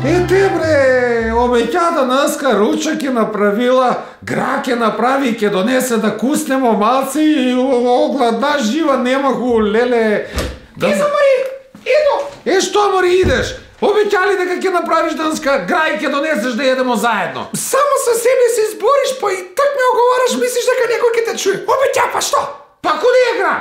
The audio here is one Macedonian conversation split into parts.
Ете бре, обеќата наска ручак ќе направила, гра ќе направи и ќе донесе да куснемо малци и гладна жива немаху, леле. Изо, Мари, иду. Што, Мари, идеш? Обеќали дека ќе направиш данска гра и ќе донесеш да едемо заедно. Само со себе се избориш, па и так ме оговараш, мислиш дека некој ќе те чуе. Обеќа, па што? Па куди е гра?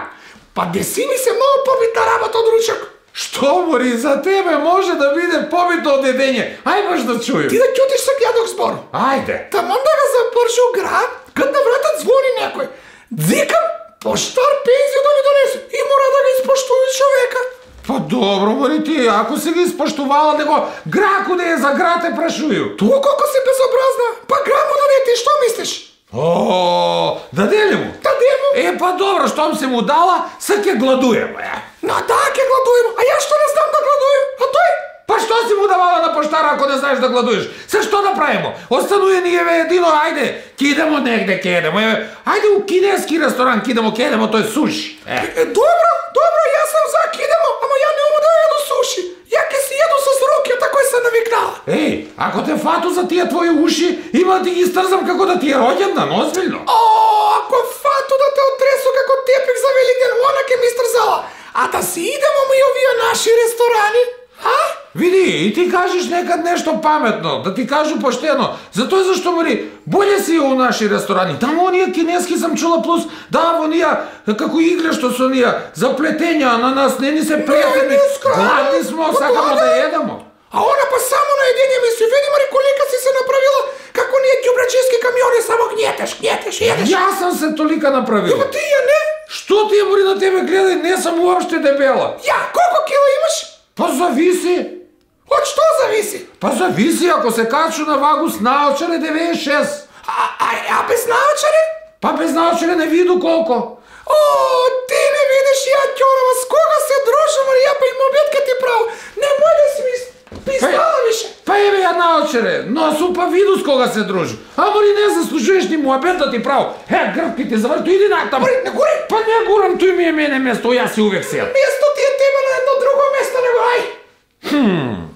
Па деси ми се многу побитна работа од ручак. Што, Мари, за тебе може да биде побитно од едење. Ај баш да чујам. Ти да ќутиш со ѓадок збор. Ајде. Таман да го запржу град, кад на вратот звони некој. Дзикам, поштар пензија да ми донесе и мора да го испоштува човека. Па добро, Мари, ти, ако си ги испоштувала, него гра куде е за гра те прашуju. Тоа колко си безобразна. Па гра му донете, што мислиш? О, даде ли му? Даде му. Па добро, штом се му дала, са ќе гладуем, Да, ќе гладуем, а ја што не знам да гладуем, а тој? Па што си му давала на поштара ако не знаеш да гладуеш? Се што да правимо? Остануе ни еве едино, ајде, ќе идемо негде, ќе едемо, ајде у кинески ресторан, ќе идемо, тој суши. Добро, јас сум за кидемо, ама ја нема да једу суши. Ја ќе си једу со руките, кој се навикнала. Ако те фату за тие твои уши, има да ги стрзам како да ти е роѓендан, озбилно. Ако фату да те отресу како тепик за Великден, она ќе ми стрзала. А да си идемо ми овие наши ресторани, а? Види, и ти кажеш некад нешто паметно, да ти кажу поштено. Затоа зашто, Мари, боле си у наши ресторани. Таму оние кинески сам чула плюс, да, онија, како игре што со онија, заплетења на нас, не ни се претени. Гладни смо, сакамо да едемо. А она па само на едење ми се види, Мари, колика си се направила, како ние ѓубрачиски камиони, само гнетеш, едеш. Јас сам се толика направила. Ја, ти ја не? Што ти е, Мари, на тебе гледај, не сам уопште дебела. Ја, колко кила имаш? Па зависи. Од што зависи? Па зависи, ако се качу на вагу с наочаре 96. А без наочаре? Па без наочаре не виду колко. О, ти не видиш ја ќорава, с кога се дружам, ја па им обетка ти прав. Немој да си ми пистала више. Па еве ја наочаре, но сум па виду с кога се дружу. Ама ли не заслужуваш ни муабет да ти прав. Грбки ти заврту, иди натаму. Не гури. Па не гурам, тој ми е мене место, јас си увек сел. Место ти е тебе на едно друго место, него ај.